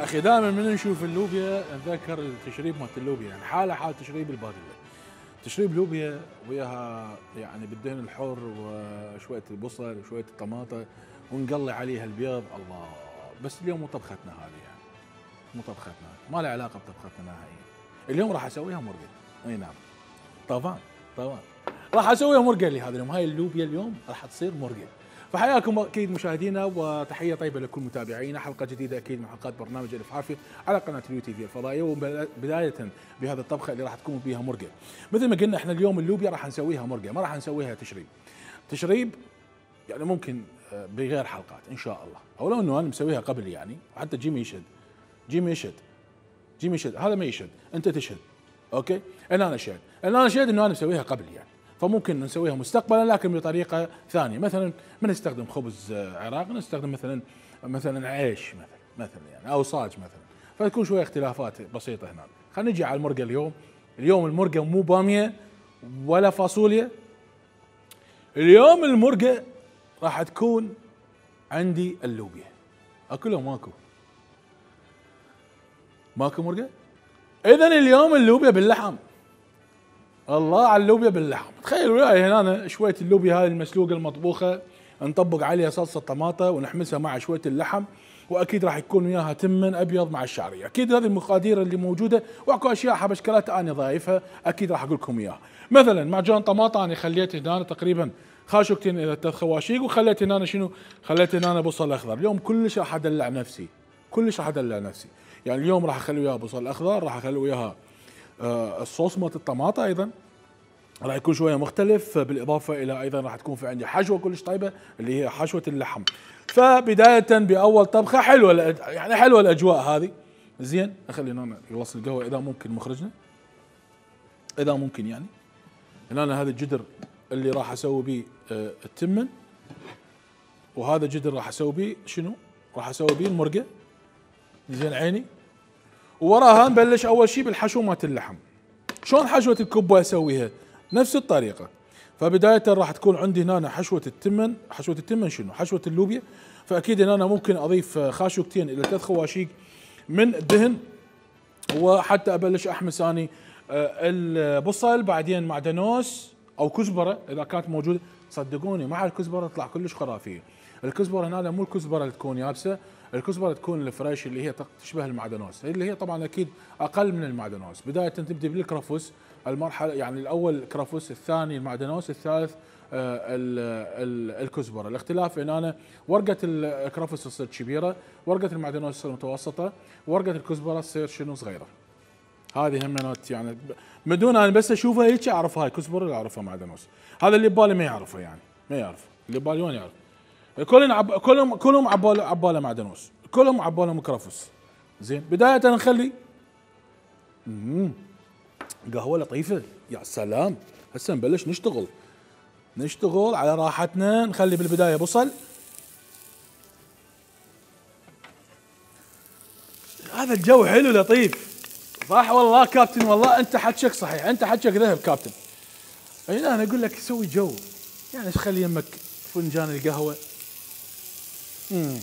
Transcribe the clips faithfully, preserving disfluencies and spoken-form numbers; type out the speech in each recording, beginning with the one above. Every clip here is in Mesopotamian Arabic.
اخي دائما من نشوف اللوبيا نتذكر التشريب مالت اللوبيا، يعني حاله حال تشريب البادله. تشريب لوبيا وياها يعني بالدهن الحر وشويه البصل وشويه الطماطه ونقلي عليها البيض، الله. بس اليوم مو طبختنا هذه يعني، مو طبختنا، ما لها علاقه بطبختنا نهائيا. اليوم راح اسويها مرقه. اي نعم. طبعا طبعا راح اسويها مرقه لي هذا اليوم، هاي اللوبيا اليوم راح تصير مرقه. فحياكم اكيد مشاهدينا وتحيه طيبه لكل متابعينا، حلقه جديده اكيد من حلقات برنامج الف عافيه على قناه اليو تي في الفضائيه، وبدايه بهذه الطبخه اللي راح تكون بها مرقه. مثل ما قلنا احنا اليوم اللوبيا راح نسويها مرقه، ما راح نسويها تشريب. تشريب يعني ممكن بغير حلقات ان شاء الله، او لو انه انا مسويها قبل يعني، وحتى جيمي يشهد. جيمي يشهد. جيمي يشهد، هذا ما يشهد، انت تشهد. اوكي؟ انا انا شهد، انا انا شهد انه انا مسويها قبل يعني. فممكن نسويها مستقبلا لكن بطريقه ثانيه، مثلا ما نستخدم خبز عراق، نستخدم مثلا مثلا عيش مثلا مثلا يعني، او صاج مثلا، فتكون شويه اختلافات بسيطه هنا. خلينا نجي على المرقه اليوم. اليوم المرقه مو باميه ولا فاصوليا. اليوم المرقه راح تكون عندي اللوبيا. اكو لو ماكو؟ ماكو مرقه؟ اذا اليوم اللوبيا باللحم. الله على اللوبيا باللحم. تخيل وياي هنا شويه اللوبيا هذه المسلوقه المطبوخه، نطبق عليها صلصه طماطه ونحمسها مع شويه اللحم، واكيد راح يكون وياها تمن ابيض مع الشعريه. اكيد هذه المقادير اللي موجوده، واكو اشياء حبشكلات انا ضايفها اكيد راح اقول لكم اياها. مثلا معجون طماطه انا خليت هنا تقريبا خاشوقتين الى ثلاث خواشيق، وخليت هنا شنو؟ خليت هنا بصل اخضر. اليوم كلش راح ادلع نفسي، كلش راح ادلع نفسي. يعني اليوم راح اخلي وياها بصل اخضر، راح اخلي وياها آه الصوص مالت الطماطه، ايضا راح يكون شويه مختلف، بالاضافه الى ايضا راح تكون في عندي حشوه كلش طيبه اللي هي حشوه اللحم. فبدايه باول طبخه حلوه يعني، حلوه الاجواء هذه. زين، خلينا هنا يوصل القهوه اذا ممكن مخرجنا، اذا ممكن يعني. هنا هذا الجدر اللي راح اسوي به آه التمن، وهذا جدر راح اسوي به شنو؟ راح اسوي به المرقه. زين عيني. ووراها نبلش اول شيء بالحشو مالت اللحم. شلون حشوه الكبه اسويها؟ نفس الطريقه. فبدايه راح تكون عندي هنا حشوه التمن. حشوه التمن شنو؟ حشوه اللوبيا. فاكيد هنا ممكن اضيف خاشوقتين الى ثلاث خواشيق من الدهن، وحتى ابلش احمس اني البصل، بعدين معدنوس او كزبره اذا كانت موجوده. صدقوني مع الكزبره تطلع كلش خرافيه. الكزبره هنا مو الكزبره اللي تكون يابسه، الكزبره تكون الفريش اللي هي تشبه المعدنوس، اللي هي طبعا اكيد اقل من المعدنوس. بدايه تبدي بالكرفس، المرحله يعني الاول كرفس، الثاني المعدنوس، الثالث آه الكزبره. الاختلاف ان انا ورقه الكرفس تصير كبيره، ورقه المعدنوس تصير متوسطه، ورقه الكزبره تصير شنو؟ صغيره. هذه همينات يعني بدون انا بس اشوفها هيك اعرف هاي كزبره ولا اعرفها معدنوس. هذا اللي ببالي ما يعرفه يعني، ما يعرف اللي ببالي وين يعرف. كلهم عب... كلهم كلهم عباله عباله معدنوس، كلهم عباله كرفس. زين، بدايه نخلي امم قهوه لطيفه. يا سلام، هسه نبلش نشتغل نشتغل على راحتنا. نخلي بالبدايه بصل. هذا الجو حلو لطيف، صح والله كابتن، والله انت حكيك صحيح، انت حكيك ذهب كابتن. اي انا اقول لك سوي جو يعني، خلي يمك فنجان القهوه، امم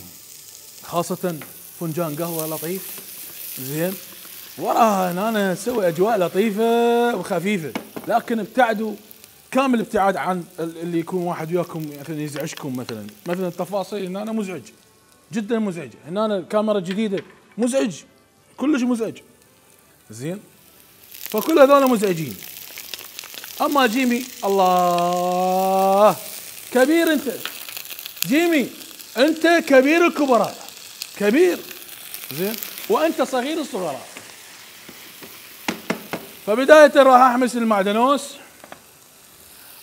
خاصه فنجان قهوه لطيف. زين، وراها انا اسوي اجواء لطيفه وخفيفه، لكن ابتعدوا كامل ابتعاد عن اللي يكون واحد وياكم مثلا يزعجكم. مثلا مثلا التفاصيل هنا مزعج جدا، مزعج. هنا الكاميرا جديده، مزعج كلش مزعج. زين، فكل هذول مزعجين. اما جيمي، الله كبير انت جيمي، انت كبير الكبراء، كبير. زين، وانت صغير الصغراء. فبداية راح احمس المعدنوس،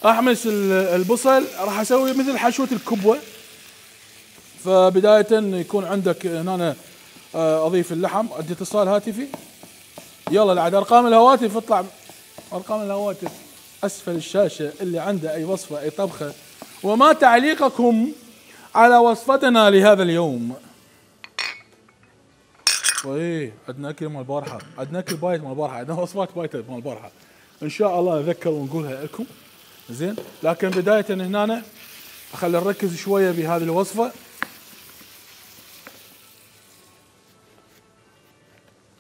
احمس البصل، راح اسوي مثل حشوة الكبوة. فبداية يكون عندك هنا اضيف اللحم. عندي اتصال هاتفي، يلا العد ارقام الهواتف، اطلع ارقام الهواتف اسفل الشاشة اللي عنده اي وصفة اي طبخة، وما تعليقكم على وصفتنا لهذا اليوم. وايه عندنا اكل مال البارحه، عندنا اكل بايت مال البارحه، عندنا وصفات بايته مال البارحه، ان شاء الله نذكر ونقولها لكم. زين، لكن بدايه هنا اخلي نركز شويه بهذه الوصفه.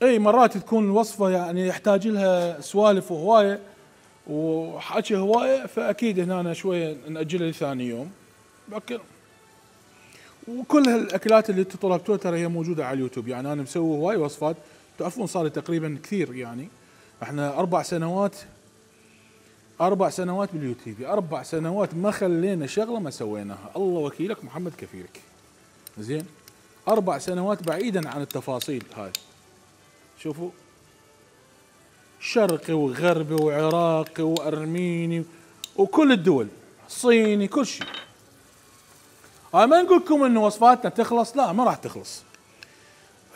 اي مرات تكون الوصفه يعني يحتاج لها سوالف وهوايه وحكي هوايه، فاكيد هنا أنا شويه ناجلها لثاني يوم. لكن وكل هالاكلات اللي انتم طلبتوها ترى هي موجوده على اليوتيوب، يعني انا مسوي هواي وصفات. تعرفون صار لي تقريبا كثير، يعني احنا اربع سنوات اربع سنوات باليوتيوب، اربع سنوات ما خلينا شغله ما سويناها، الله وكيلك محمد كفيلك. زين، اربع سنوات بعيدا عن التفاصيل هاي. شوفوا، شرقي وغربي وعراقي وارميني وكل الدول، صيني، كل شيء. هاي ما نقول لكم انه وصفاتنا تخلص، لا ما راح تخلص.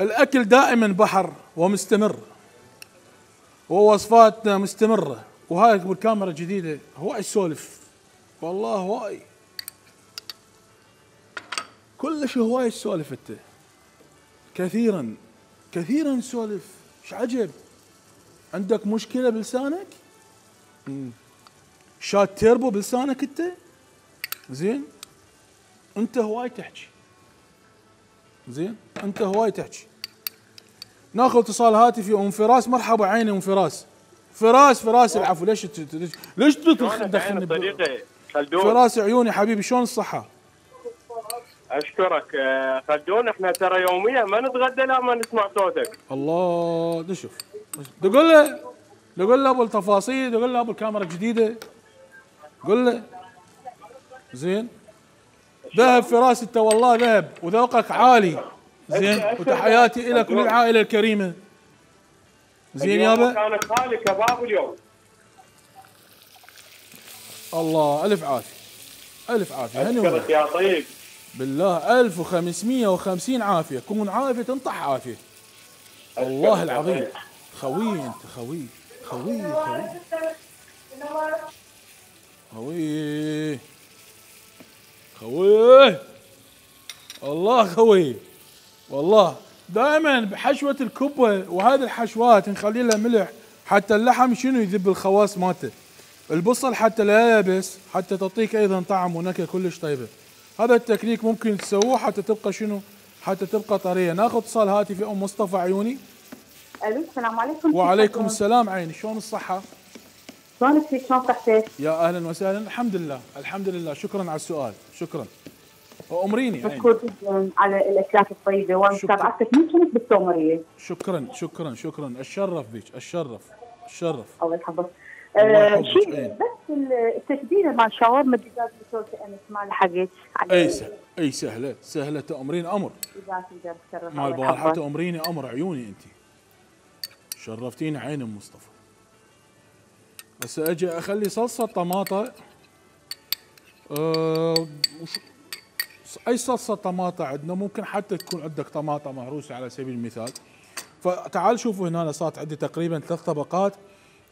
الاكل دائما بحر ومستمر، ووصفاتنا مستمره. وهاي بالكاميرا الجديده هواي سولف، والله هواي كلش هواي سولف انت، كثيرا كثيرا سولف. ايش عجب؟ عندك مشكله بلسانك؟ شات تيربو بلسانك انت؟ زين، انت هواي تحكي. زين، انت هواي تحكي. ناخذ اتصال هاتفي. ام فراس، مرحبا عيني ام فراس. فراس فراس العفو. ليش ليش ليش تدخلني صديقي خلدون؟ فراس عيوني حبيبي، شلون الصحة؟ اشكرك خلدون. احنا ترى يوميا ما نتغدى لا ما نسمع صوتك. الله، نشوف تقول له تقول له ابو التفاصيل، تقول له ابو الكاميرا الجديدة، قول له. زين، ذهب فراس انت، والله ذهب وذوقك عالي. زين، وتحياتي لك وللعائلة الكريمة. زين يابا، كان خالي كباب اليوم. الله الف عافيه، الف عافيه. اشكرك يا طيب، بالله ألف وخمسمية وخمسين عافيه. كون عافيه تنطح عافيه، والله العظيم. خوي انت، خوي خوي خوي خوي خوي الله خوي. والله دائما بحشوه الكبه وهذه الحشوات نخلي لها ملح حتى اللحم شنو يذب الخواص مالته. البصل حتى لا يبس، حتى تعطيك ايضا طعم ونكهه كلش طيبه. هذا التكنيك ممكن تسووه حتى تبقى شنو؟ حتى تبقى طريه. ناخذ اتصال هاتفي. ام مصطفى عيوني. الو، السلام عليكم. وعليكم السلام عيني، شلون الصحه؟ شلونك فيك؟ شلون صحتك؟ يا اهلا وسهلا. الحمد لله الحمد لله، شكرا على السؤال، شكرا. وامريني عيني. مشكور جدا على الاكلات الطيبه ومتابعتك من كنت بالسومريه. شكرا شكرا شكرا، اتشرف بك، اتشرف اتشرف. الله يحفظك. الله آه يحفظك. شيء بس التتبيله مال شاورما الدجاج بتركي امس ما لحقت. اي سهل، اي سهله سهله، تامرين امر. مال البارحه تامريني امر عيوني انت. شرفتيني عين ام مصطفى. بس اجي اخلي صلصه طماطه. أه اي صلصه طماطه عندنا، ممكن حتى تكون عندك طماطه مهروسه على سبيل المثال. فتعال شوفوا هنا، صارت عندي تقريبا ثلاث طبقات.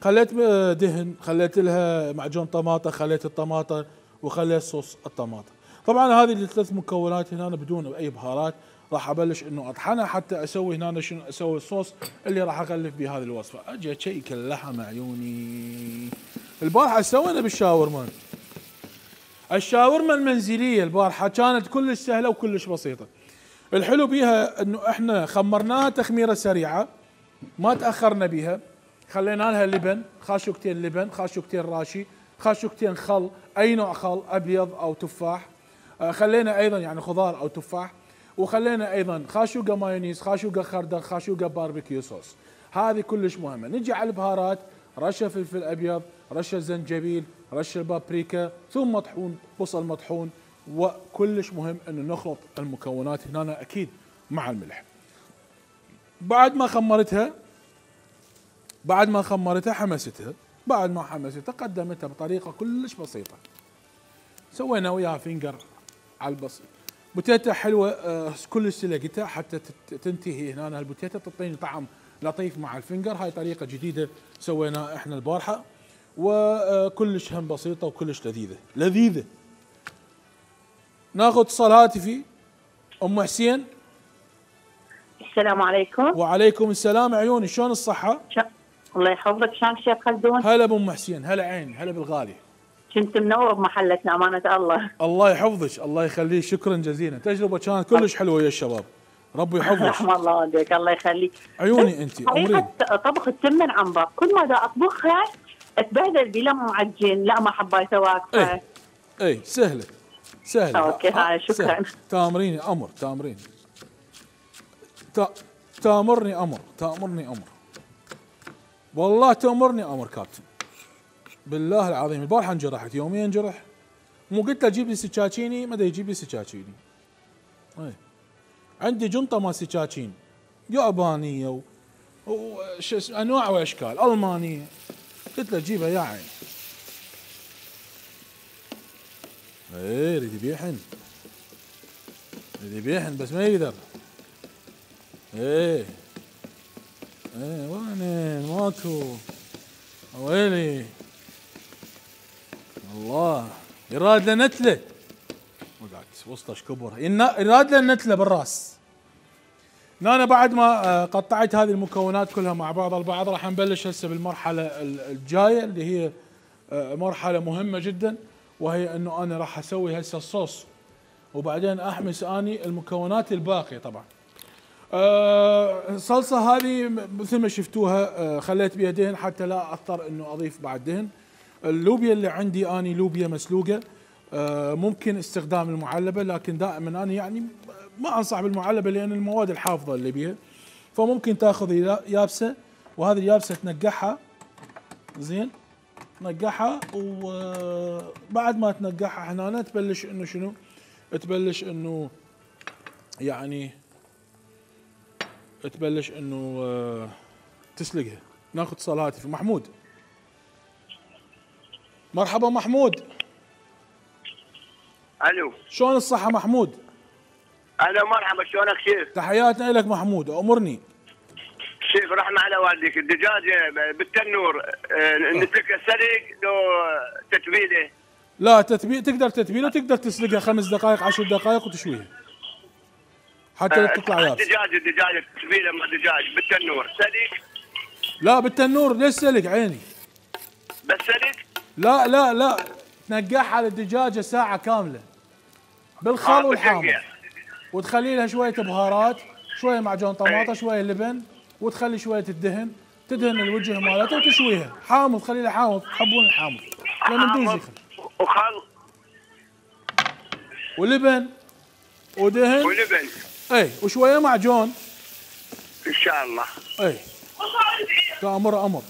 خليت دهن، خليت لها معجون طماطه، خليت الطماطه، وخليت صوص الطماطه. طبعا هذه الثلاث مكونات هنا بدون اي بهارات. راح ابلش انه اطحنها حتى اسوي هنا شنو، اسوي الصوص اللي راح اغلف به هذه الوصفه. اجي اشيك اللحم عيوني. البارحه سوينا بالشاورما، الشاورما المنزليه البارحه كانت كلش سهله وكلش بسيطه. الحلو بيها انه احنا خمرناها تخميره سريعه، ما تاخرنا بيها. خلينا لها لبن، خاشوقتين لبن، خاشوقتين راشي، خاشوقتين خل، اي نوع خل، ابيض او تفاح. خلينا ايضا يعني خضار او تفاح، وخلينا ايضا خاشوقه مايونيز، خاشوقه خردل، خاشوقه باربيكيو صوص. هذه كلش مهمه. نجي على البهارات، رشه فلفل ابيض، رشه زنجبيل، رشه بابريكا، ثم مطحون بصل مطحون. وكلش مهم انه نخلط المكونات هنا اكيد مع الملح. بعد ما خمرتها بعد ما خمرتها حمستها، بعد ما حمستها قدمتها بطريقه كلش بسيطه. سوينا وياها فينجر على البسيط. بوتيتا حلوه آه كلش سلقتها حتى تنتهي هنا البوتيتا، تعطيني طعم لطيف مع الفينجر. هاي طريقه جديده سويناها احنا البارحه، وكلش هم بسيطه وكلش لذيذه لذيذه. ناخذ اتصال هاتفي. ام حسين. السلام عليكم. وعليكم السلام عيوني، شلون الصحه؟ ش... الله يحفظك. شلونك شيخ خلدون؟ هلا بام حسين، هلا عين، هلا بالغالي. كنت منور بمحلتنا امانه الله. الله يحفظك، الله يخليك، شكرا جزيلا. تجربه كانت كلش حلوه يا الشباب، ربي يحفظك. رحم الله والديك، الله يخليك. عيوني انت امورين. طريقة طبخ التم العنبر كل ما دا اطبخها اتبهدل بلا معجن، لا ما حبيته واقفه. اي اي سهله سهله. اوكي هاي شكرا. سهل. تامريني امر تامرين تا... تامرني امر تامرني امر والله تامرني امر كابتن، بالله العظيم. البارحه انجرحت، يوميا انجرح، مو قلت له جيب لي سكاكيني، ما دا يجيب لي سكاكيني. اي عندي جنطه مال سكاكين يابانيه و... وش انواع واشكال، المانيه، قلت له جيبها يا عين. ايه يريد يبيحن، يريد يبيحن بس ما يقدر. ايه ايه وين ماكو ويلي الله. يراد له نتله وقعد وسطه شكبر، يراد له نتله بالراس. انا بعد ما قطعت هذه المكونات كلها مع بعض البعض راح نبلش هسه بالمرحله الجايه اللي هي مرحله مهمه جدا، وهي انه انا راح اسوي هسه الصوص وبعدين احمس اني المكونات الباقيه. طبعا الصلصه هذه مثل ما شفتوها خليت بها دهن حتى لا اضطر انه اضيف بعد دهن. اللوبيا اللي عندي اني لوبيا مسلوقه، ممكن استخدام المعلبه، لكن دائما انا يعني ما انصح بالمعلبه لان المواد الحافظه اللي بيها، فممكن تاخذ يابسه، وهذه اليابسه تنقعها زين، تنقعها وبعد ما تنقعها هنا تبلش انه شنو؟ تبلش انه يعني تبلش انه تسلقها. ناخذ اتصال هاتفي. محمود، مرحبا محمود. الو، شلون الصحة محمود؟ اهلا مرحبا، شلونك شيخ؟ تحياتنا لك محمود، امرني. شيخ رحمة على والديك، الدجاجة بالتنور نتركها سلق لو تتبيله؟ لا تتبيل، تقدر تتبيله وتقدر تسلقها خمس دقائق عشر دقائق وتشويها حتى لا تطلع يابس. الدجاجة الدجاجة تتبيله مع الدجاج بالتنور سلق؟ لا بالتنور ليش سلق عيني؟ بس سلق؟ لا لا لا، تنقعها للدجاجة ساعة كاملة بالخل والحامض، وتخلي لها شوية بهارات، شوية معجون طماطة، شوية لبن، وتخلي شوية الدهن، تدهن الوجه مالتها وتشويها حامض. خلي لها حامض، تحبون الحامض لأنه ندوز يخل، وخل ولبن ودهن ولبن، اي وشوية معجون ان شاء الله. اي تأمر امر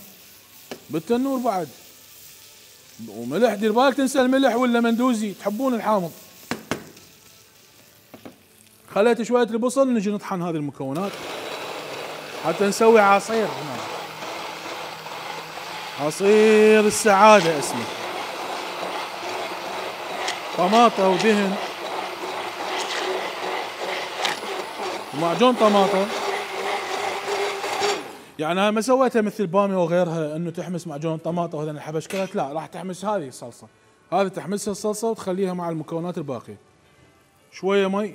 بالتنور بعد، وملح. دير بالك تنسى الملح ولا مندوزي، تحبون الحامض. خليت شوية البصل، نجي نطحن هذه المكونات حتى نسوي عصير هنا. عصير السعادة اسمه، طماطة ودهن ومعجون طماطة. يعني انا ما سويتها مثل بامي وغيرها انه تحمس معجون طماطة وهذا الحبشكلات، لا راح تحمس هذه الصلصة، هذه تحمسها الصلصة وتخليها مع المكونات الباقية. شوية مي.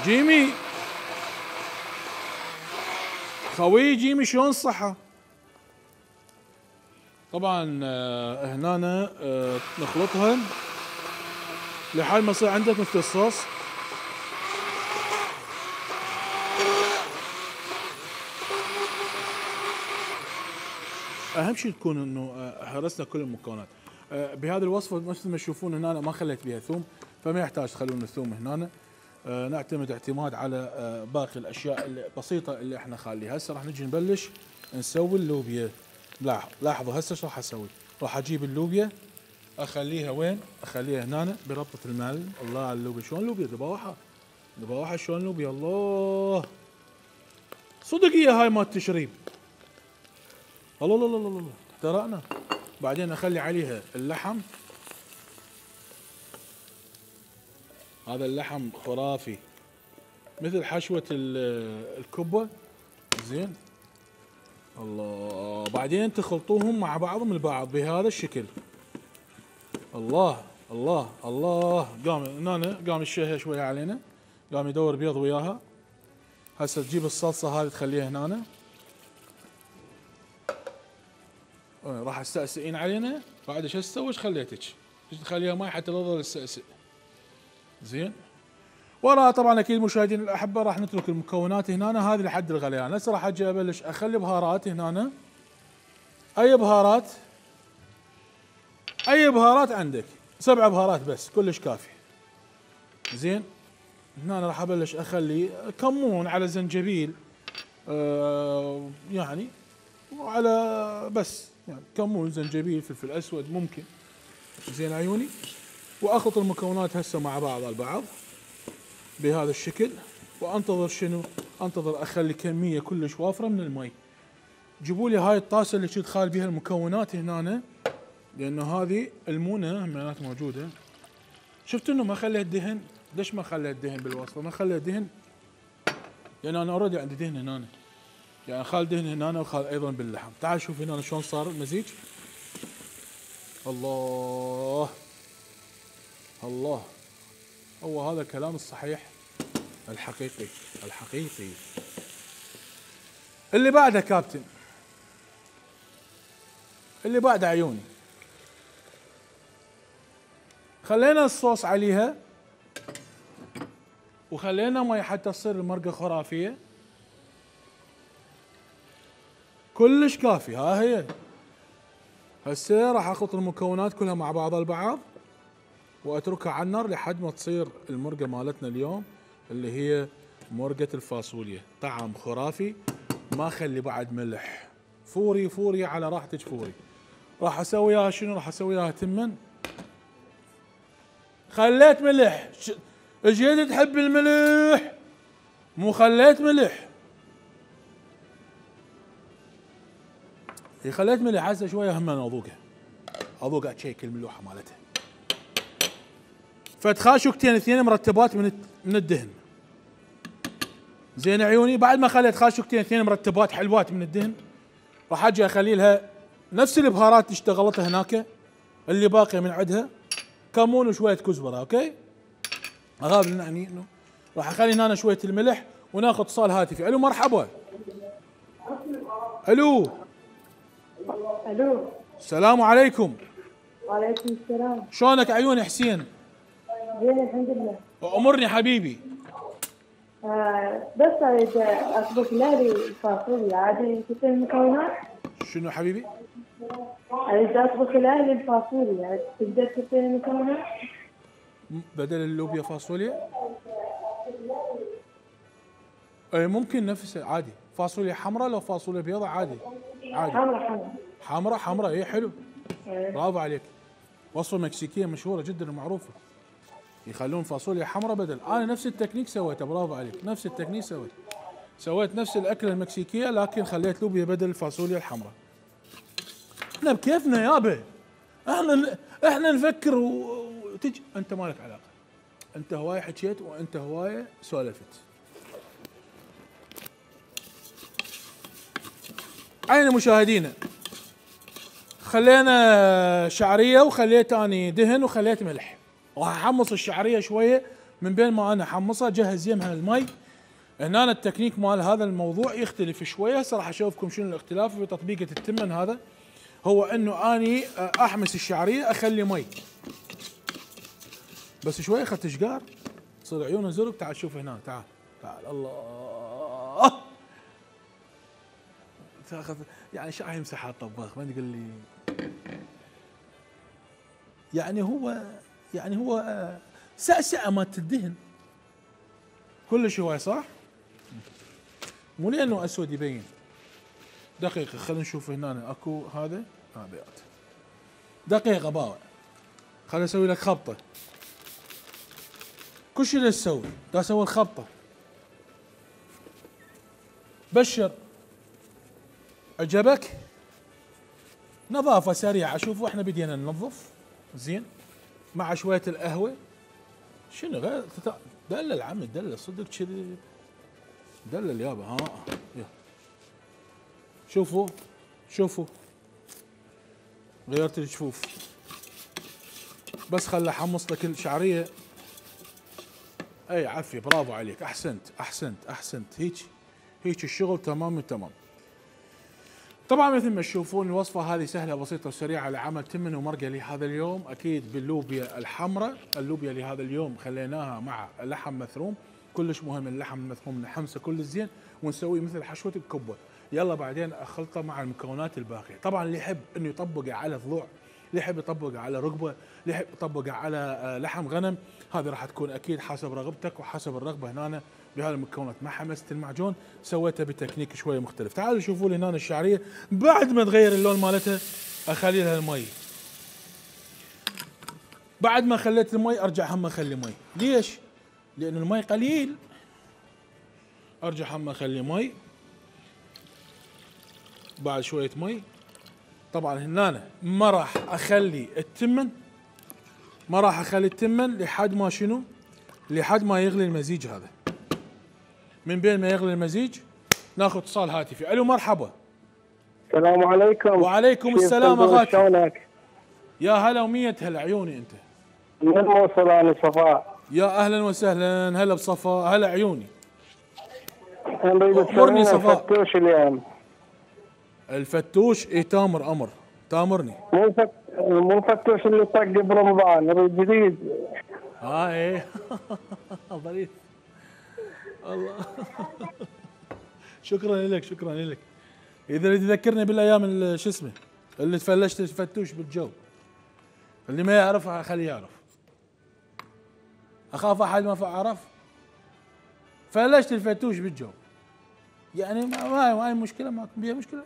جيمي خوي جيمي شلون الصحة؟ طبعا آه هنا آه نخلطها لحد ما يصير عندك مثل الصوص. اهم شيء تكون انه حرسنا كل المكونات. آه بهذه الوصفة مثل ما تشوفون هنا ما خليت بها ثوم، فما يحتاج تخلون الثوم هنا. آه نعتمد اعتماد على آه باقي الاشياء البسيطه اللي احنا خاليها. هسه راح نجي نبلش نسوي اللوبيا. لاحظوا هسه شو راح اسوي؟ راح اجيب اللوبيا اخليها وين؟ اخليها هنا بربطه المعلم. الله على اللوبيا، شلون اللوبيا ذبوحه ذبوحه، شلون اللوبيا، الله صدق هي هاي مال التشريب. الله الله الله الله اخترعنا. بعدين اخلي عليها اللحم، هذا اللحم خرافي مثل حشوة الكبة زين. الله، بعدين تخلطوهم مع بعضهم البعض بهذا الشكل. الله الله الله. قام هنا قام الشهي شوية علينا، قام يدور بيض وياها. هسه تجيب الصلصة هذه تخليها هنا. راح تستأسئين علينا بعد. ايش تسوي؟ ايش خليتك؟ تخليها ماي حتى لا تظل تستأسئ. زين وراها طبعا اكيد مشاهدينا الاحبه راح نترك المكونات هنا هذه لحد الغليان. هسه راح اجي ابلش اخلي بهارات هنا. اي بهارات اي بهارات عندك، سبع بهارات بس كلش كافي. زين هنا راح ابلش اخلي كمون على زنجبيل، آه يعني وعلى بس يعني كمون زنجبيل فلفل اسود ممكن. زين عيوني، واخلط المكونات هسه مع بعض البعض بهذا الشكل، وانتظر شنو؟ انتظر اخلي كميه كلش وافره من المي. جيبوا لي هاي الطاسه اللي كنت خال بها المكونات هنا، لانه هذه المونه همينات موجوده. شفت انه ما خليت دهن؟ ليش ما خليت دهن بالوصفه؟ ما خليت دهن لان انا اوريدي عندي دهن هنا، يعني خال دهن هنا وخال ايضا باللحم. تعال شوف هنا شلون صار المزيج. الله الله، هو هذا الكلام الصحيح الحقيقي الحقيقي. اللي بعده كابتن، اللي بعده عيوني، خلينا الصوص عليها وخلينا مي حتى تصير المرقه خرافيه كلش كافي. ها هي هسه راح اخلط المكونات كلها مع بعض البعض واتركها على النار لحد ما تصير المرقه مالتنا اليوم اللي هي مرقه الفاصوليا. طعم خرافي، ما خلي بعد ملح، فوري فوري على راحتك فوري. راح اسوي اياها شنو؟ راح اسوي اياها تمن. خليت ملح، اجيت تحب الملح مو خليت ملح، خليت ملح. هسه شويه هم انا اذوقها اذوق اتشيك الملوحه مالتها. فتخاشوكتين اثنين مرتبات من من الدهن. زين عيوني، بعد ما خليت خاشوكتين اثنين مرتبات حلوات من الدهن، راح اجي اخلي لها نفس البهارات اللي اشتغلتها هناك اللي باقيه من عندها، كمون وشويه كزبره. اوكي، اغاب يعني انه راح اخلي هنا شويه الملح وناخذ اتصال هاتفي. الو مرحبا. الو الو، السلام عليكم. وعليكم السلام. شلونك عيوني حسين؟ زين الحمد لله. امرني حبيبي. آه بس اريد اطبخ لالي الفاصوليا، عادي تكون المكونات؟ شنو حبيبي؟ اريد اطبخ لالي الفاصوليا، تقدر تكون المكونات؟ بدل اللوبيا فاصوليا؟ اي ممكن نفسه عادي. فاصوليا حمراء لو فاصوليا بيضاء عادي عادي. حمرا حمرا حمراء حمراء اي حلو. إيه. برافو عليك. وصفه مكسيكيه مشهوره جدا ومعروفه، يخلون فاصوليا حمراء بدل. انا نفس التكنيك سويته، برافو عليك، نفس التكنيك سويت سويت نفس الاكله المكسيكيه لكن خليت لوبيا بدل الفاصوليا الحمراء. احنا بكيفنا يابا، احنا احنا نفكر وتجي. انت مالك علاقه، انت هوايه حكيت وانت هوايه سولفت. عين مشاهدينا، خلينا شعريه وخليت اني دهن وخليت ملح. راح احمص الشعريه شويه، من بين ما انا احمصها جهز يمها المي. هنا التكنيك مال هذا الموضوع يختلف شويه، هسه راح اشوفكم شنو الاختلاف في تطبيقه التمن. هذا هو انه اني احمس الشعريه اخلي مي بس شويه اخذت شقار تصير عيونه زرق. تعال شوف هنا، تعال تعال. الله، تاخذ يعني شو راح يمسح الطباخ؟ ما تقول لي يعني هو يعني هو سأسأة ما تدهن كلش هواي صح؟ مو لانه اسود يبين. دقيقة خلينا نشوف هنا اكو هذا هذا دقيقة باوع. خليني اسوي لك خبطة. كل شيء تسوي دا اسوي الخبطة. بشر عجبك؟ نظافة سريعة. شوفوا احنا بدينا ننظف زين مع شوية القهوة. شنو غير دلل عمي، دلل صدق كذي، دلل يابا. ها يا شوفوا شوفوا غيرت الجفوف بس خل احمص لك الشعرية. اي عافية، برافو عليك، احسنت احسنت احسنت. هيك هيك الشغل تمام تمام. طبعا مثل ما تشوفون الوصفه هذه سهله بسيطه وسريعه لعمل تمن ومرقه لهذا اليوم. اكيد باللوبيا الحمراء، اللوبيا لهذا اليوم خليناها مع لحم مثروم، كلش مهم اللحم المثروم نحمسه كل زين ونسويه مثل حشوه الكبه. يلا بعدين اخلطه مع المكونات الباقيه. طبعا اللي يحب انه يطبقه على ضلوع، اللي يحب يطبقه على رقبه، اللي يحب يطبقه على لحم غنم، هذه راح تكون اكيد حسب رغبتك وحسب الرغبه. هنا بهذه المكونات ما حمست المعجون، سويتها بتكنيك شويه مختلف. تعالوا شوفوا لي هنا الشعريه بعد ما تغير اللون مالتها اخلي لها المي. بعد ما خليت المي ارجع هم اخلي مي. ليش؟ لانه المي قليل، ارجع هم اخلي مي. بعد شويه مي. طبعا هنا ما راح اخلي التمن، ما راح اخلي التمن لحد ما شنو؟ لحد ما يغلي المزيج هذا. من بين ما يغلي المزيج ناخذ اتصال هاتفي. الو مرحبا. السلام عليكم. وعليكم السلام اغاتي. شلونك؟ يا هلا ومية هلا عيوني انت. من الموصل انا صفاء. يا اهلا وسهلا هلا بصفاء هلا عيوني. نريد أمرني صفاء. الفتوش اليوم. الفتوش اي تامر امر تامرني. مو فت... مو الفتوش اللي طق برمضان، نريد جديد. اه ايه ظريف الله شكرا لك شكرا لك. اذا تذكرني بالايام اللي شو اسمه اللي تفلشت الفتوش بالجو، اللي ما يعرفها خليه يعرف. اخاف احد ما عرف. فلشت الفتوش بالجو يعني ما ما هي مشكله، ما بيها مشكله.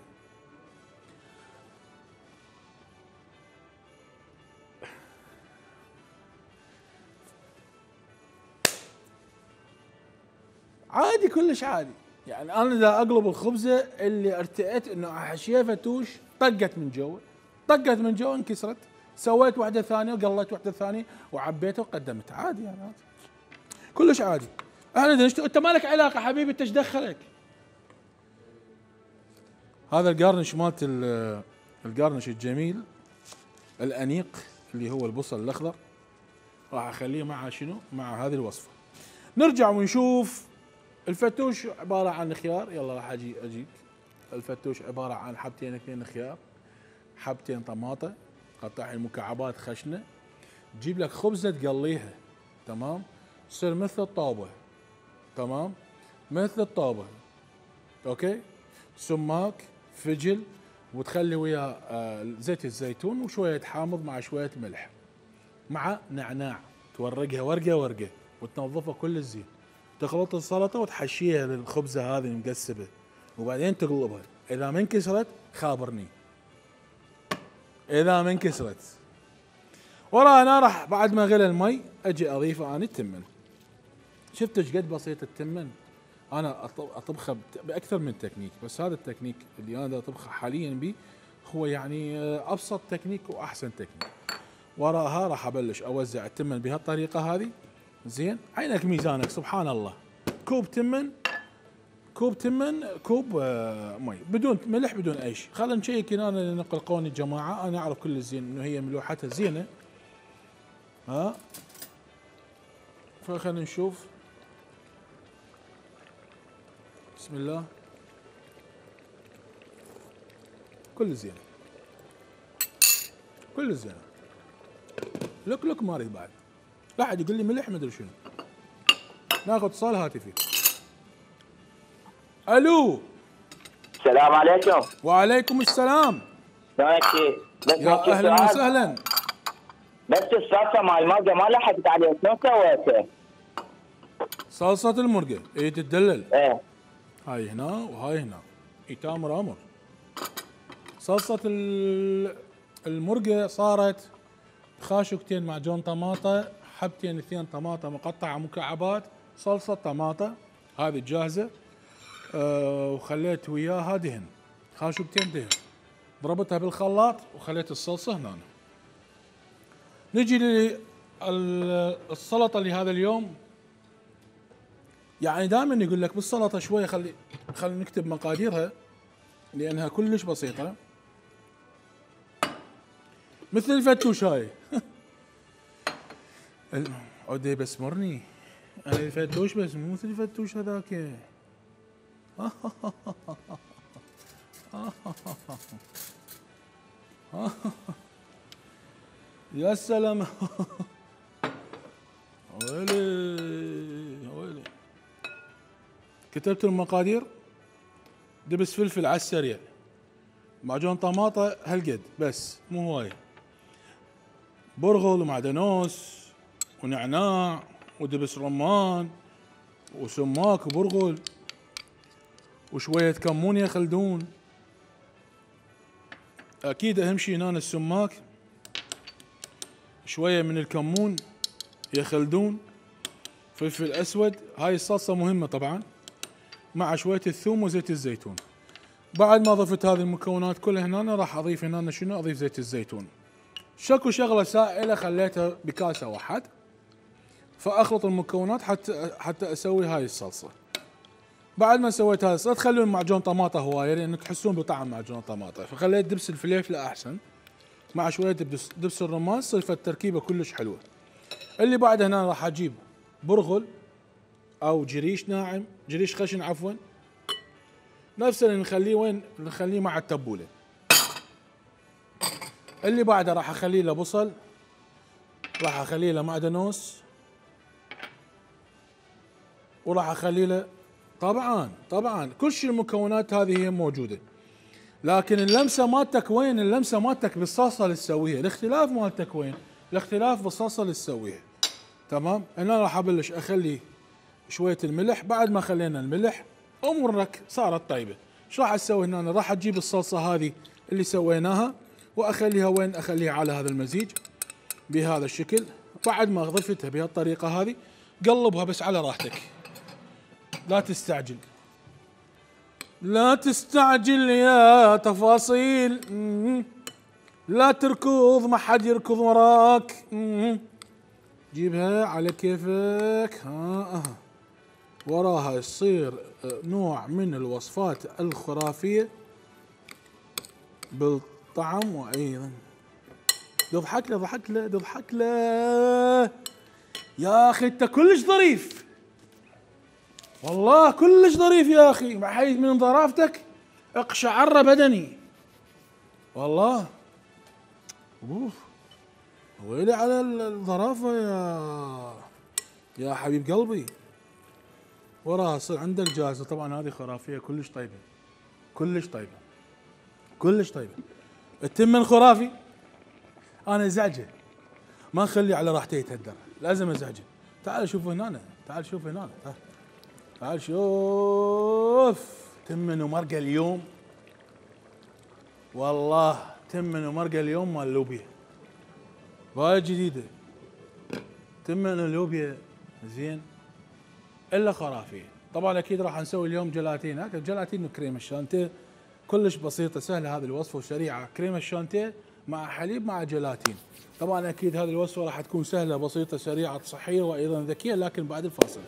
عادي كلش عادي. يعني انا اذا اقلب الخبزه اللي ارتئيت انه احشيها فتوش طقت من جوا، طقت من جوا انكسرت، سويت واحده ثانيه وقليت واحده ثانيه وعبيتها وقدمتها عادي يعني عادي. كلش عادي. احنا انت مالك علاقه حبيبي، انت ايش دخلك؟ هذا القارنش مالت القارنش الجميل الانيق اللي هو البصل الاخضر راح اخليه مع شنو؟ مع هذه الوصفه. نرجع ونشوف الفتوش عباره عن خيار. يلا راح اجي اجيك. الفتوش عباره عن حبتين اثنين خيار، حبتين طماطه، قطعها مكعبات خشنه، تجيب لك خبزه تقليها تمام، تصير مثل الطاوه تمام، مثل الطاوه اوكي، سماك فجل، وتخلي وياه آه زيت الزيتون وشويه حامض مع شويه ملح مع نعناع، تورقها ورقه ورقه وتنظفها كل زين، تخلط السلطه وتحشيها للخبزه هذه المقسبه وبعدين تقلبها. اذا ما انكسرت خابرني، اذا ما انكسرت. ورا انا راح بعد ما غلى المي اجي اضيفه انا التمن. شفت ايش قد بسيط التمن؟ انا اطبخه باكثر من تكنيك، بس هذا التكنيك اللي انا اطبخه حاليا به هو يعني ابسط تكنيك واحسن تكنيك. وراها راح ابلش اوزع التمن بهالطريقه هذه زين. عينك ميزانك سبحان الله. كوب تمن، كوب تمن، كوب آه مي بدون ملح بدون اي شيء. خلينا نشيك هنا نقلقوني الجماعه، انا اعرف كل زين انه هي ملوحتها زينه. ها فخلينا نشوف. بسم الله. كل زين كل زين. لك لك ما اريد بعد. لا احد يقول لي ملح ما ادري شنو. ناخذ اتصال هاتفي. الو. السلام عليكم. وعليكم السلام. شلونك شيخ؟ يا اهلا وسهلا. بس الصلصه مال المرقه ما لحقت عليها، شلون سويتها؟ صلصه المرقه اي تتدلل. ايه هاي هنا وهاي هنا. اي تامر امر. صلصه المرقه صارت خاشقتين معجون طماطه، حبتين اثنين طماطه مقطعه مكعبات، صلصه طماطه هذه جاهزه، أه وخليت وياها دهن، خاشقتين دهن، ضربتها بالخلاط وخليت الصلصه هنا. نجي للسلطه لهذا اليوم. يعني دائما يقول لك بالسلطه شويه خلي خلي نكتب مقاديرها لانها كلش بسيطه. مثل الفتوش هاي عودي بسمرني انا الفتوش بس مو مثل الفتوش هذاك. يا سلام. ويلي ويلي. كتبت المقادير. دبس فلفل على السريع، معجون طماطة هالقد بس مو هواية، برغل ومعدنوس ونعناع ودبس رمان وسماك وبرغل وشوية كمون يا خلدون. اكيد اهم شي هنا السماك، شوية من الكمون يا خلدون، فلفل اسود، هاي الصلصة مهمة طبعا، مع شوية الثوم وزيت الزيتون. بعد ما ضفت هذه المكونات كلها هنا راح اضيف هنا شنو؟ اضيف زيت الزيتون. شكو شغلة سائلة خليتها بكاسة واحد، فاخلط المكونات حتى حتى اسوي هاي الصلصة. بعد ما سويت هاي الصلصة تخلون معجون طماطة هواية لان تحسون بطعم معجون الطماطة، فخليت دبس الفليفلة احسن مع شوية دبس, دبس الرمان، صيفت التركيبة كلش حلوة. اللي بعد هنا راح اجيب برغل او جريش ناعم، جريش خشن عفوا، نفس اللي نخليه وين؟ نخليه مع التبولة. اللي بعده راح اخليه له بصل، راح اخليه له معدنوس، وراح اخليه له طبعا طبعا كل شيء المكونات هذه هي موجودة، لكن اللمسة مالتك وين؟ اللمسة مالتك بالصلصة اللي تسويها، الاختلاف مالتك وين؟ الاختلاف بالصلصة اللي تسويها. تمام؟ هنا راح ابلش اخلي شوية الملح. بعد ما خلينا الملح امورك صارت طيبة. ايش راح اسوي هنا؟ راح اجيب الصلصة هذه اللي سويناها واخليها وين؟ اخليها على هذا المزيج بهذا الشكل. بعد ما ضفتها بهالطريقة هذه قلبها بس على راحتك، لا تستعجل لا تستعجل يا تفاصيل، لا تركض ما حد يركض وراك، جيبها على كيفك. ها ها وراها يصير نوع من الوصفات الخرافية بالطعم. وايضا تضحك له ضحك له تضحك له يا اخي، انت كلش ظريف والله، كلش ظريف يا اخي، بحيث من ظرافتك اقشعر بدني والله. اوف ويلي على الظرافة يا يا حبيب قلبي. وراها يصير عندك جاهزة. طبعا هذه خرافية كلش طيبة كلش طيبة كلش طيبة. التمن خرافي انا ازعجه، ما نخليه على راحته يتهدر، لازم ازعجه. تعال شوف هنا، تعال شوف هنا، تعال تعال شوف تمن ومرقة اليوم، والله تمن ومرقة اليوم مال اللوبيا، وايد جديدة تمن اللوبيا زين الا خرافية. طبعا اكيد راح نسوي اليوم جلاتين، هكذا جلاتين وكريمة الشانتيه، كلش بسيطة سهلة هذه الوصفة وسريعة. كريمة الشانتيه مع حليب مع جلاتين. طبعا اكيد هذه الوصفة راح تكون سهلة بسيطة سريعة صحية وايضا ذكية، لكن بعد الفاصل.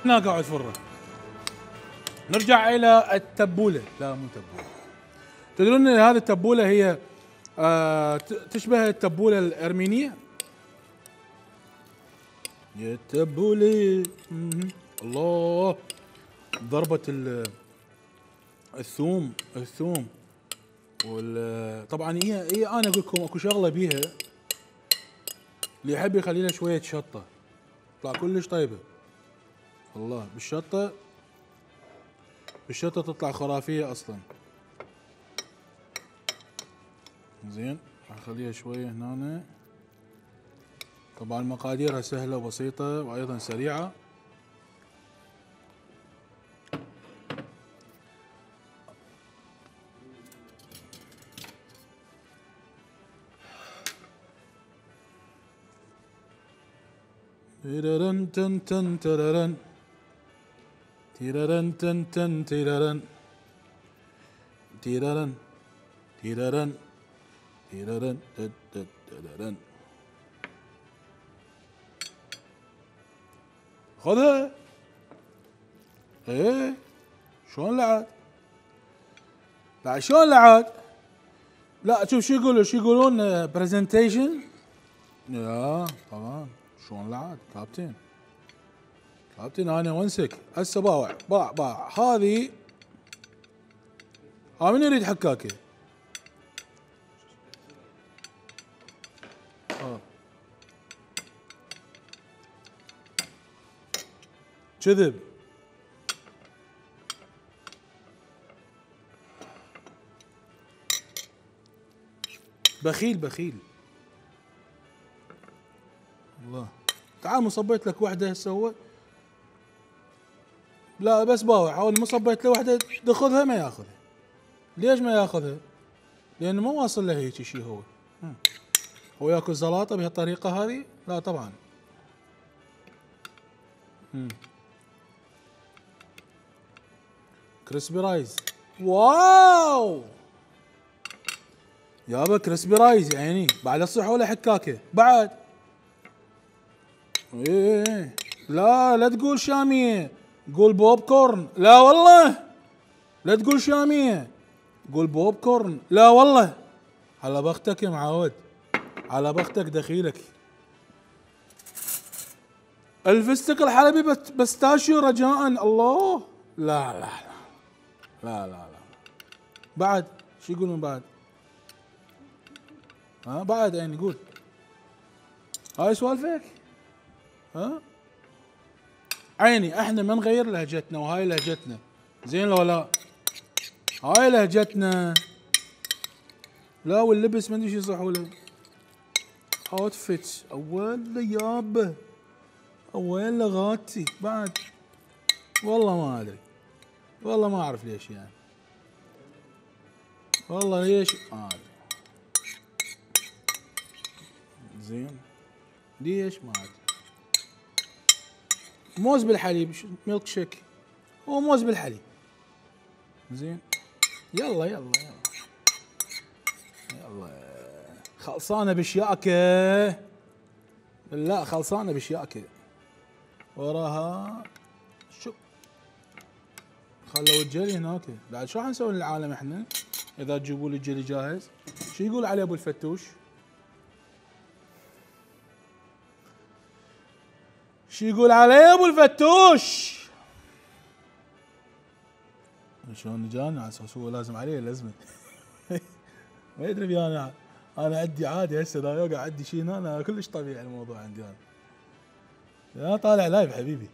هنا قاعد فرة. نرجع الى التبولة، لا مو تبولة. تدرون ان هذه التبولة هي آه تشبه التبولة الارمينية. يا التبولة الله، ضربة الثوم الثوم وال طبعا هي هي انا اقول لكم اكو شغلة بيها، اللي يحب يخلي لها شوية شطة تطلع كلش طيبة والله. بالشطة بالشطة تطلع خرافية اصلا. زين راح اخليها شوية هنا. طبعا مقاديرها سهلة وبسيطة وايضا سريعة. تيررن تن تن تررن تيررن تن تن تيررن تيررن تيررن تيررن تررن. خذها. ايه شلون لعد؟ لا شلون لعد؟ لا شوف شو يقولوا شو يقولون برزنتيشن. يا طبعا شلون لعد كابتن؟ كابتن انا ونسك هسه باوع باع باع هذه. ها من يريد حكاكه؟ اه كذب. بخيل بخيل الله. تعال ما صبيت لك وحده هسه هو. لا بس باوع اول ما صبيت له وحده تاخذها ما ياخذها. ليش ما ياخذها؟ لانه ما واصل له هيك شيء. هو هو ياكل زلاطه بهالطريقه هذه؟ لا طبعا. امم كريسبي رايز. واو يابا كريسبي رايز يعني بعد الصح ولا حكاكه بعد. ايه لا لا تقول شاميه قول بوب كورن. لا والله لا تقول شاميه قول بوب كورن. لا والله على بختك يا معود على بختك دخيلك. الفستق الحلبي بستاشيو رجاء. الله لا لا لا لا لا لا بعد شو يقولون بعد؟ ها بعد يعني قول هاي سوالفك. ها عيني احنا ما نغير لهجتنا وهاي لهجتنا زين لو لا؟ هاي لهجتنا. لا واللبس ما ادري شو يصحوا له. اوتفيت اول يابا اول لغاتي بعد. والله ما ادري والله ما اعرف ليش يعني. والله ليش ما ادري. زين ليش ما ادري. موز بالحليب ميلك شيك. هو موز بالحليب. زين يلا يلا يلا يلا خلصانه بشياكه. لا خلصانه بشياكه. وراها شو خلوا الجلي هناك. بعد شو حنسوي للعالم احنا اذا تجيبوا لي الجلي جاهز؟ شو يقول عليه ابو الفتوش؟ شو يقول عليه ابو الفتوش؟ شلون جاني على اساس هو لازم عليه لازمه. ما يدري بي انا انا عندي عادي هسه اذا يوقع عندي شيء هنا انا كلش طبيعي الموضوع عندي انا. يا طالع لايف حبيبي.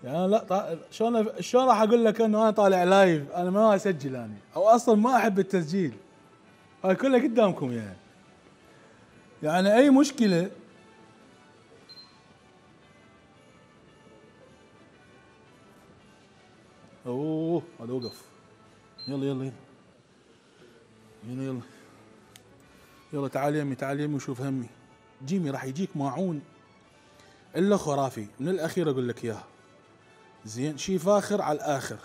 يعني لا طا... شلون شلون راح اقول لك انه انا طالع لايف؟ انا ما اسجل انا او اصلا ما احب التسجيل. هاي كلها قدامكم يعني. يعني اي مشكله اوه هذا وقف. يلا يلا يلا يلا يلا يلا تعال يمي تعال يمي وشوف همي. جيمي راح يجيك ماعون الا خرافي من الاخير اقول لك اياها. زين شي فاخر على الاخر.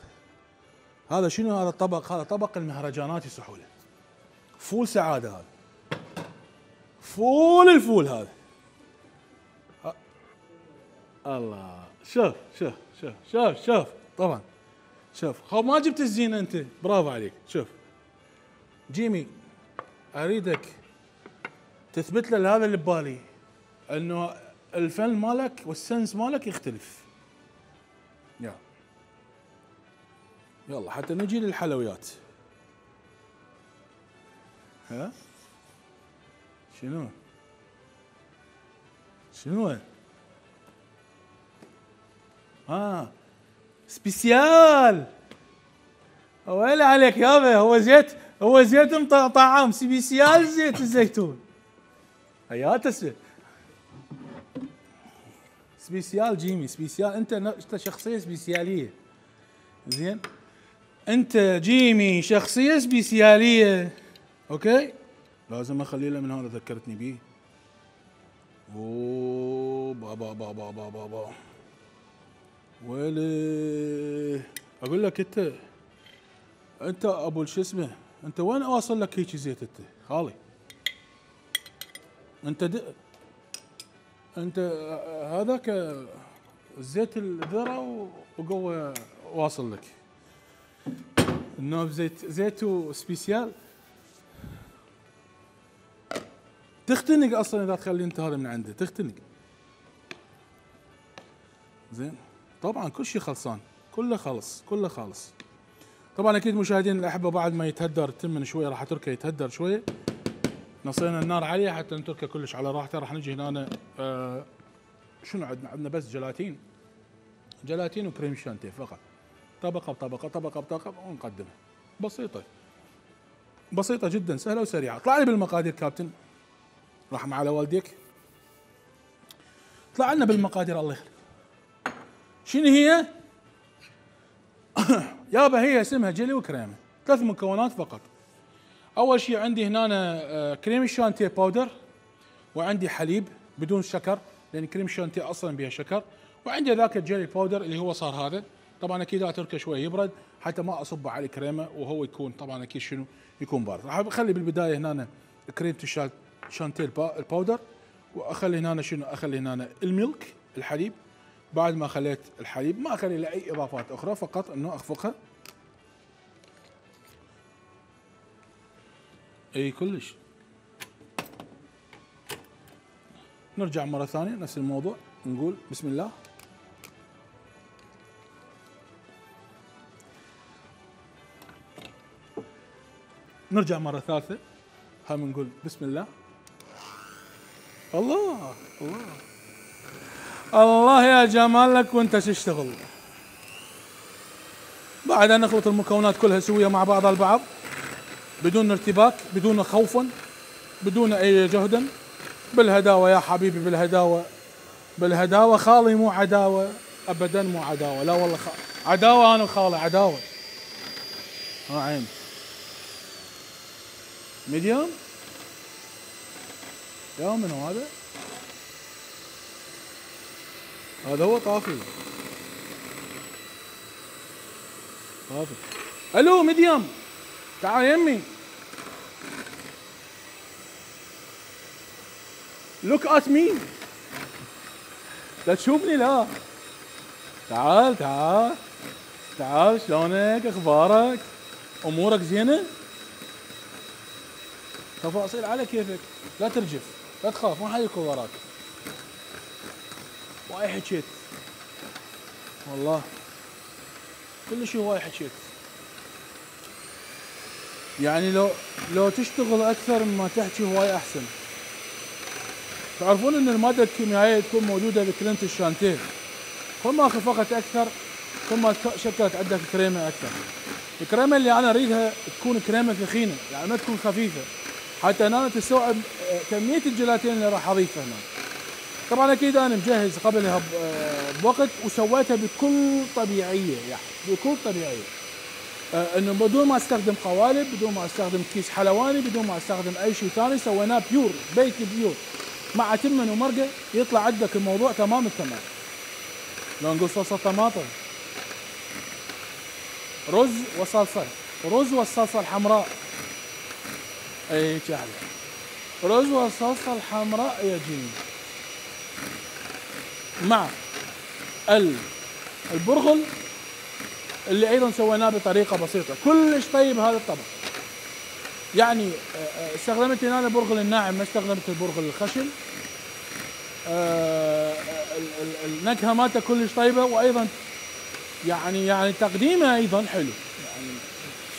هذا شنو هذا الطبق؟ هذا طبق المهرجانات يصحوا له. فول سعاده هذا. فول الفول هذا. الله شوف شوف شوف شوف شوف طبعا شوف خو ما جبت الزينه انت برافو عليك. شوف جيمي اريدك تثبت له هذا اللي ببالي انه الفن مالك والسنس مالك يختلف. يلا يلا حتى نجي للحلويات. ها شنو شنو ها سبيسيال. ويلي عليك يابا. هو زيت هو زيت طعام سبيسيال زيت الزيتون. حياته سبيسيال جيمي سبيسيال. انت انت شخصيه سبيسياليه. زين انت جيمي شخصيه سبيسياليه. اوكي لازم اخلي له من هذا ذكرتني بيه. اوه بابا بابا بابا بابا ويلي اقول لك انت انت ابو شو اسمه انت وين واصل لك هيك زيت انت خالي؟ انت د... انت هذاك زيت الذره وقوه واصل لك. النوب زيت زيتو سبيسيال تختنق اصلا اذا تخلي انت هذا من عنده تختنق. زين طبعا كل شيء خلصان كله خلص كله خالص. طبعا اكيد مشاهدين الاحبه بعد ما يتهدر تم من شويه راح اتركه يتهدر شويه. نصينا النار عليه حتى نتركه كلش على راحته. راح نجي هنا آه شنو عندنا؟ عندنا بس جلاتين جلاتين وكريم شانتيه فقط. طبقه بطبقه طبقه بطبقه ونقدمها. بسيطه بسيطه جدا سهله وسريعه. اطلع لي بالمقادير كابتن رحمة على والديك. اطلع لنا بالمقادير الله يخليك. شنو هي؟ يابا هي اسمها جيلي وكريمه. ثلاث مكونات فقط. اول شيء عندي هنا كريم الشانتيه باودر وعندي حليب بدون شكر لان كريم الشانتيه اصلا بها شكر وعندي ذاك الجيلي باودر اللي هو صار هذا. طبعا اكيد اتركه شوي يبرد حتى ما اصبه على الكريمه وهو يكون طبعا اكيد شنو يكون بارد. راح اخلي بالبدايه هنا كريمه الشانتيه الباودر واخلي هنا شنو اخلي هنا الملك الحليب. بعد ما خليت الحليب ما اخلي له اي اضافات اخرى فقط انه اخفقها. اي كلش. نرجع مره ثانيه نفس الموضوع نقول بسم الله. نرجع مره ثالثه هم نقول بسم الله. الله الله الله يا جمالك وانت تشتغل. بعدها نخلط المكونات كلها سويه مع بعضها البعض بدون ارتباك بدون خوفا بدون اي جهد بالهداوه يا حبيبي بالهداوه بالهداوه. خالي مو عداوه ابدا مو عداوه لا والله خ... عداوه انا وخالي عداوه. ها عين ميديوم يا منو هذا؟ هذا هو طافي طافي. الو ميديوم تعال يمي. لوك ات مي لا تشوفني لا. تعال تعال تعال شلونك اخبارك امورك زينه؟ تفاصيل على كيفك لا ترجف لا تخاف ما حد يكون وراك. واي حكيت والله كل شيء واي حكيت. يعني لو لو تشتغل اكثر مما تحكي هواي احسن. تعرفون ان الماده الكيميائيه تكون موجوده بكريمه الشانتيه. كل ما خفقت اكثر كل ما شكلت عندك كريمه اكثر. الكريمه اللي انا اريدها تكون كريمه ثخينه يعني ما تكون خفيفه حتى انا تستوعب كميه الجيلاتين اللي راح اضيفها هنا. طبعا اكيد انا مجهز قبلها بوقت وسويتها بكل طبيعيه يعني بكل طبيعيه. انه بدون ما استخدم قوالب بدون ما استخدم كيس حلواني بدون ما استخدم اي شيء ثاني سويناه بيور بيت بيور مع تمن ومرقه يطلع عندك الموضوع تمام التمام. لو نقول صلصه طماطم رز وصلصه رز والصلصه الحمراء. اي جهل رز والصلصه الحمراء يا جيني مع البرغل اللي ايضا سويناه بطريقه بسيطه كلش طيب هذا الطبق. يعني استخدمت هنا البرغل الناعم ما استخدمت البرغل الخشن. النكهه مالته كلش طيبه وايضا يعني يعني تقديمه ايضا حلو. يعني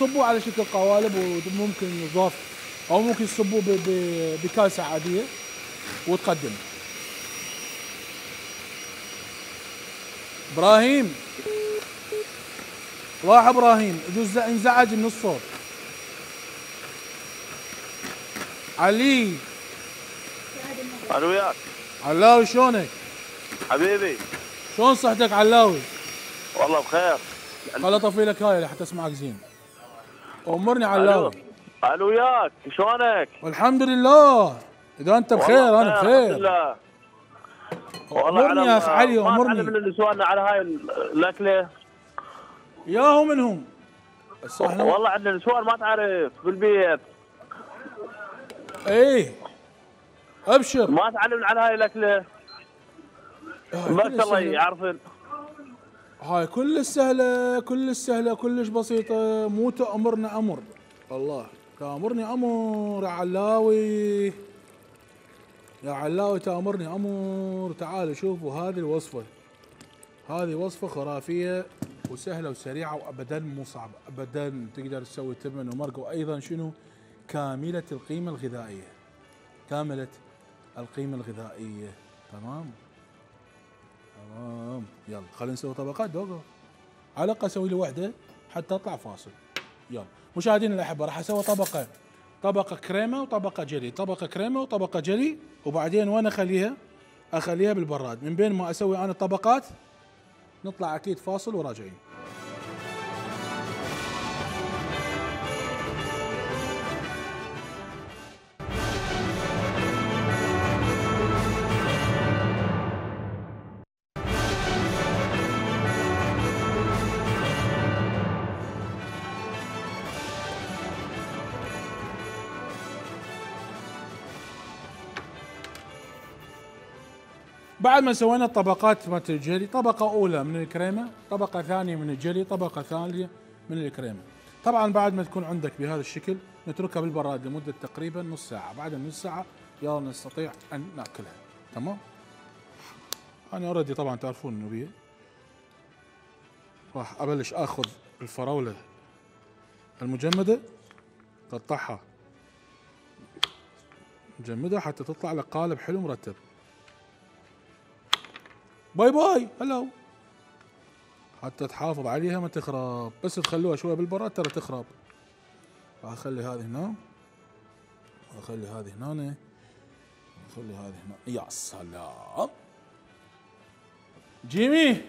صبوه على شكل قوالب وممكن يضاف او ممكن تصبوه بكاسه عاديه وتقدم. ابراهيم راح ابراهيم يجوز انزعج من الصوت. علي الو وياك علاوي شلونك؟ حبيبي شلون صحتك علاوي؟ والله بخير. خل اطفي لك هاي لحتى اسمعك زين. امرني علاوي. الو وياك شلونك؟ والحمد لله اذا انت بخير انا بخير. الحمد لله. امرني يا اخ علي امرني. ما من اللي سؤالنا على هاي الاكله ياهو منهم والله عندنا نسوان ما تعرف بالبيت. ايه ابشر ما تعلمنا على هاي الاكله. ما شاء الله يعرفن. هاي كلش سهله كلش سهله كلش بسيطه، مو تامرنا امر. الله تامرني امر يا علاوي، يا علاوي تامرني امر. تعالوا شوفوا هذه الوصفه، هذه وصفه خرافيه وسهله وسريعه وابدا مو صعبه ابدا. تقدر تسوي تمن ومرق، وايضا شنو كامله القيمه الغذائيه، كامله القيمه الغذائيه. تمام تمام. يلا خلينا نسوي طبقات دوغو، على الاقل اسوي لي وحده حتى اطلع فاصل. يلا مشاهدينا الاحبه، راح اسوي طبقه طبقه كريمه وطبقه جلي، طبقه كريمه وطبقه جلي، وبعدين وين اخليها؟ اخليها بالبراد. من بين ما اسوي انا الطبقات نطلع اكيد فاصل وراجعين. بعد ما سوينا الطبقات مالت الجلي، طبقة أولى من الكريمة، طبقة ثانية من الجلي، طبقة ثانية من الكريمة. طبعا بعد ما تكون عندك بهذا الشكل نتركها بالبراد لمدة تقريبا نص ساعة. بعد النص ساعة يلا نستطيع أن نأكلها. تمام. أنا أوريدي طبعا تعرفون إنه بيه راح أبلش آخذ الفراولة المجمدة، قطعها مجمدة حتى تطلع لك قالب حلو مرتب. باي باي هلو، حتى تحافظ عليها ما تخرب، بس تخلوها شويه بالبراد ترى تخرب. راح اخلي هذه هنا، واخلي هذه هنا، واخلي هذه هنا. يا سلام جيمي،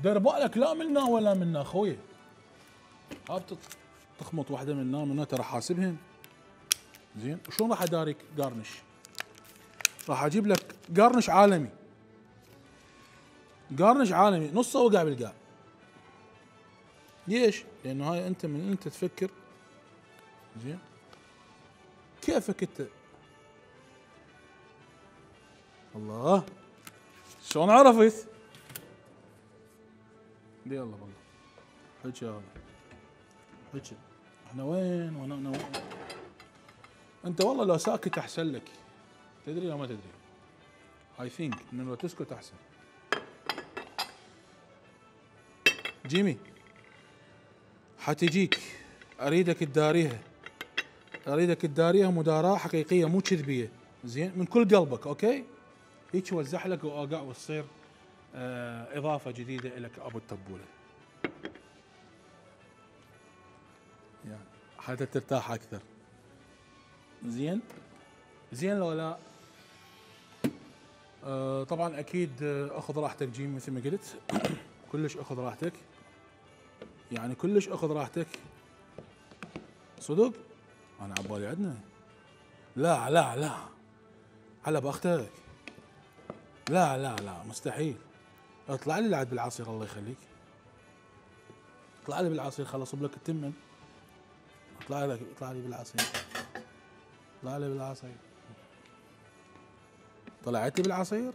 دير بالك لا منا ولا منا اخوي. هاب تخمط واحده منا منا ترى حاسبهن زين. وشلون راح اداريك قارنش؟ راح اجيب لك قارنش عالمي، قارنش عالمي نصه وقع بالقاع. ليش؟ لانه هاي انت من انت تفكر زين كيفك انت. الله شلون عرفت؟ يلا والله حكي هذا حكي. احنا وين وانا انا وين؟ انت والله لو ساكت احسن لك. تدري او ما تدري؟ اي ثينك انه لو تسكت احسن. جيمي حتجيك اريدك تداريها، اريدك تداريها مداراة حقيقية مو كذبية زين من كل قلبك. اوكي هيك وزح لك واقع وتصير آه اضافة جديدة لك ابو التبولة يعني حتى ترتاح اكثر. زين زين لو لا آه طبعا اكيد اخذ راحتك جيمي مثل ما قلت. كلش اخذ راحتك يعني كلش اخذ راحتك صدق. انا عبالي عندنا لا لا لا على باختك لا لا لا مستحيل. اطلع لي بعد بالعصير الله يخليك، اطلع لي بالعصير خلص لك التمن. اطلع لك اطلع لي بالعصير، اطلع لي بالعصير. طلعت لي بالعصير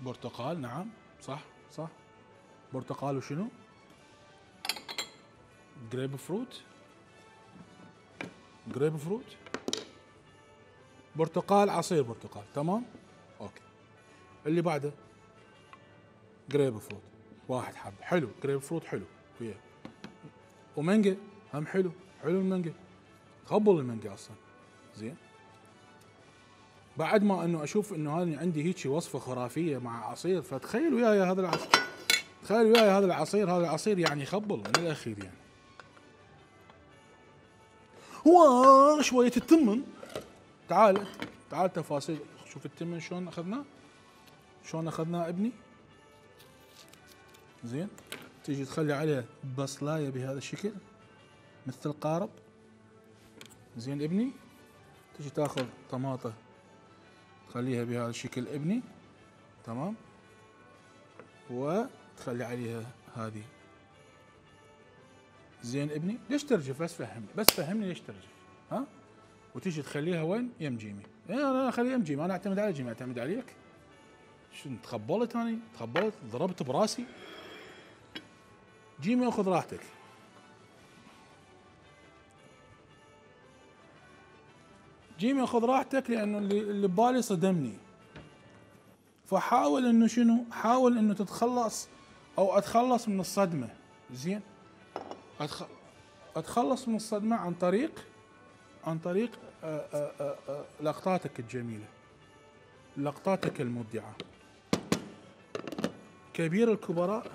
برتقال. نعم صح صح برتقال. وشنو؟ جريب فروت، جريب فروت برتقال، عصير برتقال. تمام اوكي. اللي بعده جريب فروت واحد حب حلو. جريب فروت حلو وياه. ومانجا هم حلو. حلو المانجا، خبل المانجا اصلا زين. بعد ما انه اشوف انه هذه عندي هيك وصفه خرافيه مع عصير، فتخيل وياي هذا العصير، تخيل وياي هذا العصير. هذا العصير يعني يخبل من الاخير يعني. هو شويه التمن. تعال تعال تفاصيل. شوف التمن شلون اخذناه، شلون اخذناه ابني زين. تيجي تخلي عليه بصلايه بهذا الشكل مثل القارب زين ابني. تيجي تاخذ طماطه تخليها بهذا الشكل ابني. تمام. وتخلي عليها هذه زين ابني. ليش ترجف؟ بس فهمني بس فهمني ليش ترجف ها. وتيجي تخليها وين؟ يم جيمي. انا اخليها يم جيمي. انا اعتمد على جيمي، اعتمد عليك شنو تخبلت اني؟ تخبلت ضربت براسي؟ جيمي اخذ راحتك. جيمي اخذ راحتك لانه اللي, اللي ببالي صدمني. فحاول انه شنو؟ حاول انه تتخلص او اتخلص من الصدمه، زين؟ أتخ... اتخلص من الصدمه عن طريق عن طريق آآ آآ آآ لقطاتك الجميله، لقطاتك المبدعه. كبير الكبراء،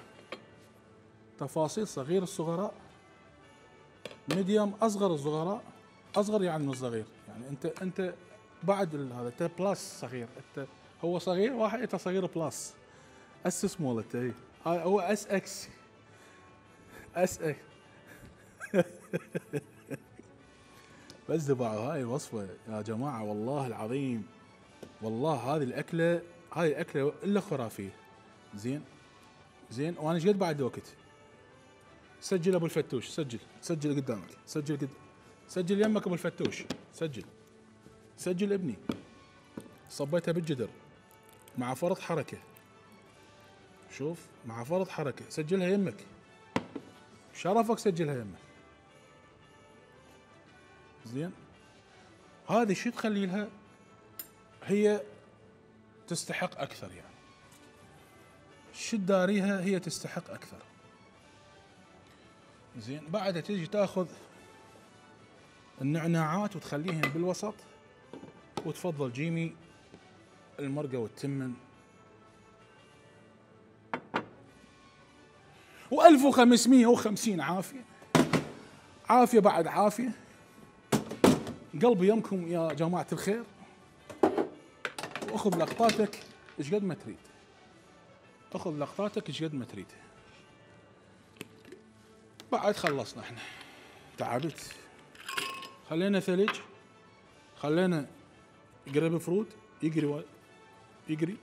تفاصيل صغير الصغراء، ميديوم اصغر الصغراء، اصغر يعني من الصغير، يعني انت انت بعد هذا انت بلس صغير، انت هو صغير واحد انت صغير بلس. اس سمول انت هي هو اس اكس اس اكس بس دبعوا هاي الوصفه يا جماعه والله العظيم، والله هذه الاكله هاي الاكله الا خرافيه. زين زين وانا ايش قد بعد وقت؟ سجل ابو الفتوش، سجل سجل قدامك، سجل قد سجل يمك ابو الفتوش، سجل سجل ابني. صبيتها بالجدر مع فرض حركه، شوف مع فرض حركه، سجلها يمك، شرفك سجلها يمك. زين هذه شو تخلي لها؟ هي تستحق اكثر، يعني شو تداريها هي تستحق اكثر. زين بعدها تيجي تاخذ النعناعات وتخليهن بالوسط، وتفضل جيمي المرقه والتمن. وألف وخمسمية وخمسين عافيه عافيه بعد عافيه. قلبي يمكم يا جماعه الخير، واخذ لقطاتك ايش قد ما تريد، اخذ لقطاتك ايش قد ما تريد. بعد خلصنا احنا، تعبت، خلينا ثلج، خلينا جريب فروت يجري و... يجري.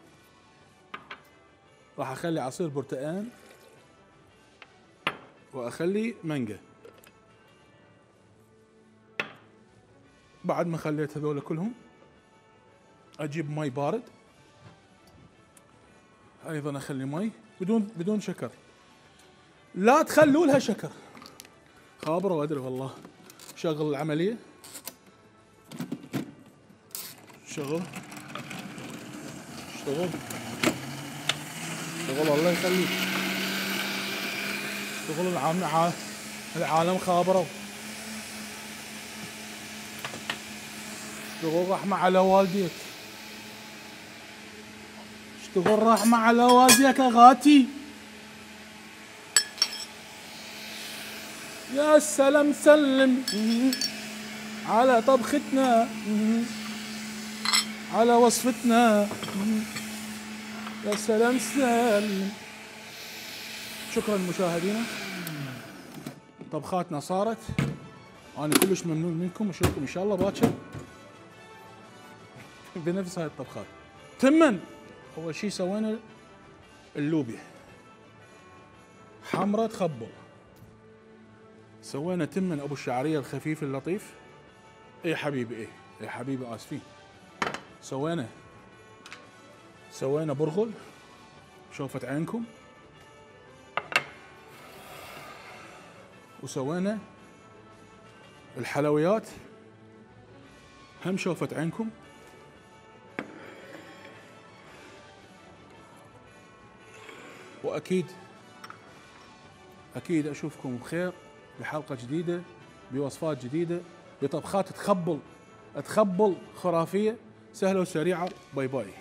راح اخلي عصير برتقال واخلي مانجا. بعد ما خليت هذول كلهم اجيب مي بارد، ايضا اخلي مي بدون بدون شكر، لا تخلوا لها شكر، خابره وادري والله. شغل العمليه، شغل اشتغل اشتغل الله يخليك، اشتغل. العالم العالم خابروا، اشتغل رحمة على والديك، اشتغل رحمة على والديك يا غاتي. يا سلام سلم على طبختنا، على وصفتنا، يا سلام سلم. شكرا مشاهدينا، طبخاتنا صارت، انا كلش ممنون منكم، واشوفكم ان شاء الله باكر بنفس هاي الطبخات. تمن اول شيء سوينا اللوبيا حمرة تخبل، سوينا تمن ابو الشعريه الخفيف اللطيف. اي حبيبي ايه اي حبيبي اسفين. سوينا سوينا برغل شوفت عينكم، وسوينا الحلويات هم شوفت عينكم. واكيد اكيد اشوفكم بخير بحلقه جديده، بوصفات جديده، بطبخات تخبل تخبل خرافيه سهله وسريعه. باي باي.